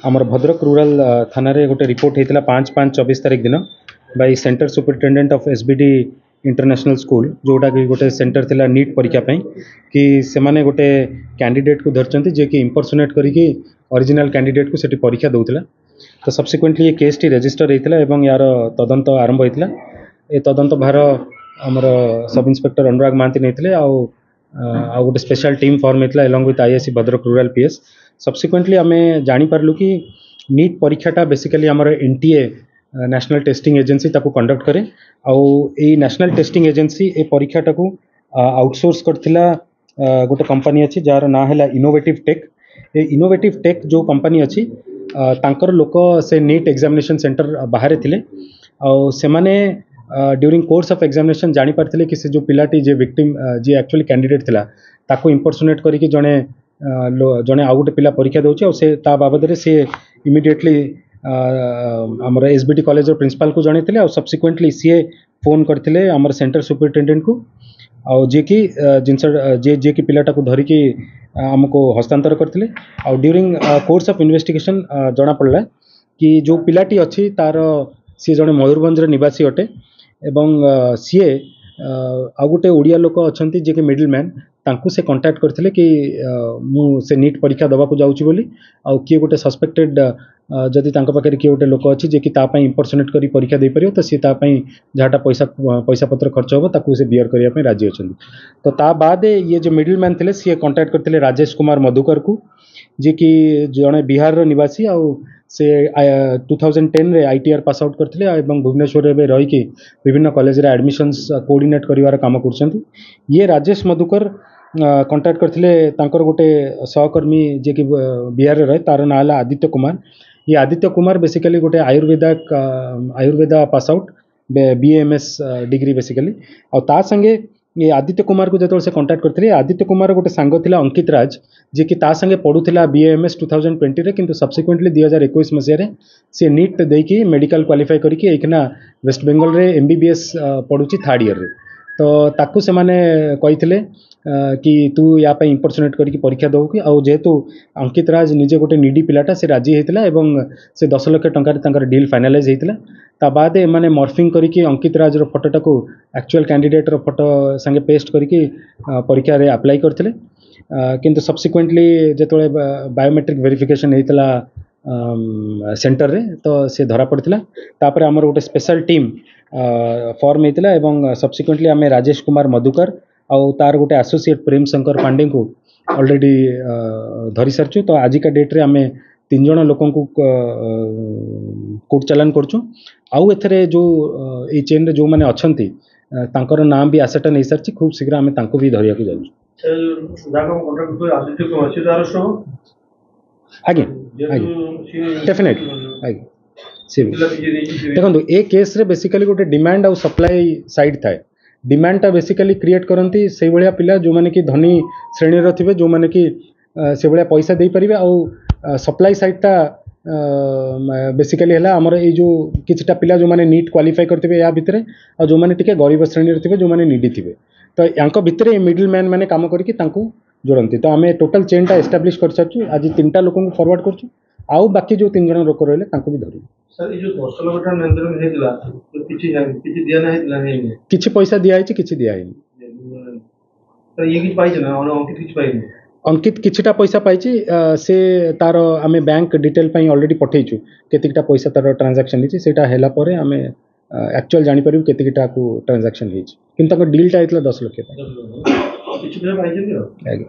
ଆମର ଭଦ୍ରକ ରୁରାଲ ଥାନାରେ ଗୋଟେ ରିପୋର୍ଟ ହେଇଥିଲା 5/5/24 ତାରିଖ ଦିନ by center superintendent of SBD International School, ଯେଉଁଟାକି ଗୋଟେ ସେଣ୍ଟର ଥିଲା ନିଟ୍ ପରୀକ୍ଷା ପାଇଁ, କି ସେମାନେ ଗୋଟେ କ୍ୟାଣ୍ଡିଡେଟ୍କୁ ଧରିଛନ୍ତି, ଯିଏକି ଇମ୍ପରସୋନେଟ୍ କରିକି ଅରିଜିନାଲ୍ କ୍ୟାଣ୍ଡିଡେଟ୍କୁ ସେଠି ପରୀକ୍ଷା ଦେଉଥିଲା। ତ ସବସିକ୍ୱେଣ୍ଟଲି ଏ କେସ୍ଟି ରେଜିଷ୍ଟର ହେଇଥିଲା ଏବଂ ୟାର ତଦନ୍ତ ଆରମ୍ଭ ହେଇଥିଲା। ଏ ତଦନ୍ତ ଭାର ଆମର ସବ୍ ଇନ୍ସପେକ୍ଟର ଅନୁରାଗ ମହାନ୍ତି ନେଇଥିଲେ ଆଉ ଗୋଟେ ସ୍ପେଶାଲ ଟିମ୍ ଫର୍ମ ହେଇଥିଲା along with IIC Bhadrak Rural PS। Subsequently ଆମେ ଜାଣିପାରିଲୁ କି ନିଟ୍ ପରୀକ୍ଷାଟା ବେସିକାଲି ଆମର ଏନ୍ଟିଏ, ନ୍ୟାସନାଲ୍ ଟେଷ୍ଟିଂ ଏଜେନ୍ସି ତାକୁ କଣ୍ଡକ୍ଟ କରେ। ଆଉ ଏଇ ନ୍ୟାସନାଲ୍ ଟେଷ୍ଟିଂ ଏଜେନ୍ସି ଏ ପରୀକ୍ଷାଟାକୁ ଆଉଟସୋର୍ସ କରିଥିଲା ଗୋଟେ କମ୍ପାନୀ ଅଛି, ଯାହାର ନାଁ ହେଲା ଇନୋଭେଟିଭ୍ ଟେକ୍। ଏ ଇନୋଭେଟିଭ୍ ଟେକ୍ ଯେଉଁ କମ୍ପାନୀ ଅଛି, ତାଙ୍କର ଲୋକ ସେ ନିଟ୍ ଏକ୍ଜାମିନେସନ୍ ସେଣ୍ଟର ବାହାରେ ଥିଲେ। ଆଉ ସେମାନେ ଡ୍ୟୁରିଂ କୋର୍ସ ଅଫ୍ ଏକ୍ଜାମିନେସନ୍ ଜାଣିପାରିଥିଲେ କି ସେ ଯେଉଁ ପିଲାଟି, ଯିଏ ଭିକ୍ଟିମ୍, ଯିଏ ଆକ୍ଚୁଆଲି କ୍ୟାଣ୍ଡିଡେଟ୍ ଥିଲା, ତାକୁ ଇମ୍ପରସୋନେଟ୍ କରିକି ଜଣେ ଆଉ ଗୋଟେ ପିଲା ପରୀକ୍ଷା ଦେଉଛି। ଆଉ ସେ ତା ବାବଦରେ ସିଏ ଇମିଡ଼ିଏଟଲି ଆମର ଏସ୍ ବି ଡି କଲେଜର ପ୍ରିନ୍ସିପାଲକୁ ଜଣାଇଥିଲେ। ଆଉ ସବସିକ୍ୱେଣ୍ଟଲି ସିଏ ଫୋନ୍ କରିଥିଲେ ଆମର ସେଣ୍ଟର ସୁପରିଟେଣ୍ଡେଣ୍ଟକୁ, ଆଉ ଯିଏକି ଜିନିଷ ଯିଏକି ପିଲାଟାକୁ ଧରିକି ଆମକୁ ହସ୍ତାନ୍ତର କରିଥିଲେ। ଆଉ ଡ୍ୟୁରିଂ କୋର୍ସ ଅଫ୍ ଇନଭେଷ୍ଟିଗେସନ୍ ଜଣାପଡ଼ିଲା କି ଯେଉଁ ପିଲାଟି ଅଛି ତାର, ସିଏ ଜଣେ ମୟୂରଭଞ୍ଜର ନିବାସୀ ଅଟେ ଏବଂ ସିଏ ଆଉ ଗୋଟେ ଓଡ଼ିଆ ଲୋକ ଅଛନ୍ତି, ଯିଏକି ମିଡଲ୍ ମ୍ୟାନ୍, ତାଙ୍କୁ ସେ କଣ୍ଟାକ୍ଟ କରିଥିଲେ କି ମୁଁ ସେ ନିଟ୍ ପରୀକ୍ଷା ଦେବାକୁ ଯାଉଛି ବୋଲି, ଆଉ କିଏ ଗୋଟେ ସସ୍ପେକ୍ଟେଡ୍ ଯଦି ତାଙ୍କ ପାଖରେ କିଏ ଗୋଟେ ଲୋକ ଅଛି, ଯିଏକି ତା ପାଇଁ ଇମ୍ପରସୋନେଟ୍ କରି ପରୀକ୍ଷା ଦେଇପାରିବ, ତ ସିଏ ତା ପାଇଁ ଯାହାଟା ପଇସା ପତ୍ର ଖର୍ଚ୍ଚ ହେବ, ତାକୁ ସେ ବିୟର କରିବା ପାଇଁ ରାଜି ଅଛନ୍ତି। ତ ତା ବାଦେ ଇଏ ଯେଉଁ ମିଡଲ୍ ମ୍ୟାନ୍ ଥିଲେ, ସିଏ କଣ୍ଟାକ୍ଟ କରିଥିଲେ ରାଜେଶ କୁମାର ମଧୁକରକୁ, ଯିଏକି ଜଣେ ବିହାରର ନିବାସୀ ଆଉ ସେ 2010ରେ ଆଇଟିଆର୍ ପାସ୍ ଆଉଟ୍ କରିଥିଲେ ଏବଂ ଭୁବନେଶ୍ୱରରେ ଏବେ ରହିକି ବିଭିନ୍ନ କଲେଜରେ ଆଡ଼ମିସନ୍ସ କୋଅର୍ଡ଼ିନେଟ୍ କରିବାର କାମ କରୁଛନ୍ତି। ଇଏ ରାଜେଶ ମଧୁକର କଣ୍ଟାକ୍ଟ କରିଥିଲେ ତାଙ୍କର ଗୋଟେ ସହକର୍ମୀ, ଯିଏକି ବିହାରରେ ରହେ, ତାର ନାଁ ହେଲା ଆଦିତ୍ୟ କୁମାର। ଇଏ ଆଦିତ୍ୟ କୁମାର ବେସିକାଲି ଗୋଟେ ଆୟୁର୍ବେଦା pass out, BAMS degree basically. ଆଉ ତା ସାଙ୍ଗେ ଏ ଆଦିତ୍ୟ କୁମାରକୁ ଯେତେବେଳେ ସେ କଣ୍ଟାକ୍ଟ କରିଥିଲେ, ଆଦିତ୍ୟ କୁମାର ଗୋଟେ ସାଙ୍ଗ ଥିଲା ଅଙ୍କିତ ରାଜ, ଯିଏକି ତା ସାଙ୍ଗେ ପଢ଼ୁଥିଲା ବିଏଏମ୍ଏସ୍ 2020ରେ। କିନ୍ତୁ ସବସିକ୍ୱେଣ୍ଟଲି 2021 ମସିହାରେ ସିଏ ନିଟ୍ ଦେଇକି ମେଡ଼ିକାଲ କ୍ୱାଲିଫାଏ କରିକି ଏଇଖିନା ୱେଷ୍ଟବେଙ୍ଗଲରେ ଏମ୍ବିବିଏସ୍ ପଢ଼ୁଛି ଥାର୍ଡ଼ ଇୟର୍ରେ। ତ ତାକୁ ସେମାନେ କହିଥିଲେ କି ତୁ ୟା ପାଇଁ ଇମ୍ପରସୋନେଟ୍ କରିକି ପରୀକ୍ଷା ଦେବୁ କି? ଆଉ ଯେହେତୁ ଅଙ୍କିତ ରାଜ ନିଜେ ଗୋଟେ ନିଡି ପିଲାଟା, ସେ ରାଜି ହେଇଥିଲା ଏବଂ ସେ 10 ଲକ୍ଷ ଟଙ୍କାରେ ତାଙ୍କର ଡିଲ୍ ଫାଇନାଲାଇଜ୍ ହେଇଥିଲା। ତା ବାଦେ ଏମାନେ ମର୍ଫିଂ କରିକି ଅଙ୍କିତ ରାଜର ଫଟୋଟାକୁ ଆକ୍ଚୁଆଲ୍ କ୍ୟାଣ୍ଡିଡେଟ୍ର ଫଟୋ ସାଙ୍ଗେ ପେଷ୍ଟ କରିକି ପରୀକ୍ଷାରେ ଆପ୍ଲାଏ କରିଥିଲେ। କିନ୍ତୁ ସବସିକ୍ୱେଣ୍ଟଲି ଯେତେବେଳେ ବାୟୋମେଟ୍ରିକ୍ ଭେରିଫିକେସନ୍ ହେଇଥିଲା ସେଣ୍ଟରରେ, ତ ସେ ଧରା ପଡ଼ିଥିଲା। ତାପରେ ଆମର ଗୋଟେ ସ୍ପେଶାଲ ଟିମ୍ ଫର୍ମ ହେଇଥିଲା ଏବଂ ସବସିକ୍ୱେଣ୍ଟଲି ଆମେ ରାଜେଶ କୁମାର ମଧୁକର ଆଉ ତାର ଗୋଟେ ଆସୋସିଏଟ୍ ପ୍ରେମ ଶଙ୍କର ପାଣ୍ଡେଙ୍କୁ ଅଲରେଡ଼ି ଧରି ସାରିଛୁ। ତ ଆଜିକା ଡେଟ୍ରେ ଆମେ ତିନି ଜଣ ଲୋକଙ୍କୁ କୋର୍ଟ ଚାଲାଣ କରୁଛୁ। ଆଉ ଏଥିରେ ଯେଉଁ ଏଇ ଚେନ୍ରେ ଯେଉଁମାନେ ଅଛନ୍ତି, ତାଙ୍କର ନାଁ ବି ଆସର୍ଟେନ୍ ହେଇସାରିଛି। ଖୁବ୍ ଶୀଘ୍ର ଆମେ ତାଙ୍କୁ ବି ଧରିବାକୁ ଯାଉଛୁ। ଯାହାକୁ କଣ୍ଟାକ୍ଟ କରିଥିଲେ ଆଦିତ୍ୟ କୁମାର, ସିଏ ତ ଆରେଷ୍ଟ ହବ? ଆଜ୍ଞା, ଡେଫିନେଟଲି ଆଜ୍ଞା, ସିଏ ବି। ପିଲା ବି ଯିଏ ଦେଇଛି ସିଏ ବି। ଦେଖନ୍ତୁ, ଏ କେସ୍ରେ ବେସିକାଲି ଗୋଟେ ଡିମାଣ୍ଡ ଆଉ ସପ୍ଲାଇ ସାଇଡ୍ ଥାଏ। ଡିମାଣ୍ଡଟା ବେସିକାଲି କ୍ରିଏଟ୍ କରନ୍ତି ସେଇଭଳିଆ ପିଲା, ଯେଉଁମାନେ କି ଧନୀ ଶ୍ରେଣୀର ଥିବେ, ଯେଉଁମାନେ କି ସେଭଳିଆ ପଇସା ଦେଇପାରିବେ। ଆଉ ସପ୍ଲାଇ ସାଇଡ୍ଟା ବେସିକାଲି ହେଲା ଆମର ଏଇ ଯେଉଁ କିଛିଟା ପିଲା, ଯେଉଁମାନେ ନିଟ୍ କ୍ୱାଲିଫାଏ କରିଥିବେ ୟା ଭିତରେ, ଆଉ ଯେଉଁମାନେ ଟିକେ ଗରିବ ଶ୍ରେଣୀର ଥିବେ, ଯେଉଁମାନେ ନିଡି ଥିବେ। ତ ୟାଙ୍କ ଭିତରେ ଏ ମିଡଲ୍ ମ୍ୟାନ୍ ମାନେ କାମ କରିକି ତାଙ୍କୁ ଯୋଡ଼ନ୍ତି। ତ ଆମେ ଟୋଟାଲ୍ ଚେନ୍ଟା ଏଷ୍ଟାବ୍ଲିଶ୍ କରିସାରିଛୁ। ଆଜି ତିନିଟା ଲୋକଙ୍କୁ ଫରୱାର୍ଡ଼ କରୁଛୁ, ଆଉ ବାକି ଯେଉଁ ତିନି ଜଣ ଲୋକ ରହିଲେ, ତାଙ୍କୁ ବି ଧରିବୁ। ସାର୍, ଏଇ ଯୋଉ 10 ଲକ୍ଷ ଟଙ୍କା ଲେନଦେନ ହେଇଥିଲା, ତ କିଛି ଦିଆ ହେଇଥିଲା, ହେଇନି? କିଛି ପଇସା ଦିଆହେଇଛି, କିଛି ଦିଆହେଇନି। ସାର୍, ଇଏ କିଛି ପାଇছে ନା ଅଙ୍କିତ କିଛି ପାଇନି? ଅଙ୍କିତ କିଛିଟା ପଇସା ପାଇଛି। ସେ ତାର ଆମେ ବ୍ୟାଙ୍କ ଡିଟେଲ୍ ପାଇଁ ଅଲରେଡ଼ି ପଠେଇଛୁ, କେତିକିଟା ପଇସା ତାର ଟ୍ରାଞ୍ଜାକ୍ସନ୍ ହେଇଛି। ସେଇଟା ହେଲା ପରେ ଆମେ ଆକ୍ଚୁଆଲ୍ ଜାଣିପାରିବୁ କେତିକିଟାକୁ ଟ୍ରାଞ୍ଜାକ୍ସନ୍ ହେଇଛି। କିନ୍ତୁ ତାଙ୍କ ଡିଲ୍ଟା ହେଇଥିଲା 10 ଲକ୍ଷ ପାଇଁ। 10 ଲକ୍ଷ, କିଛି ପଇସା ପାଇଛନ୍ତି ଆଉ। ଆଜ୍ଞା।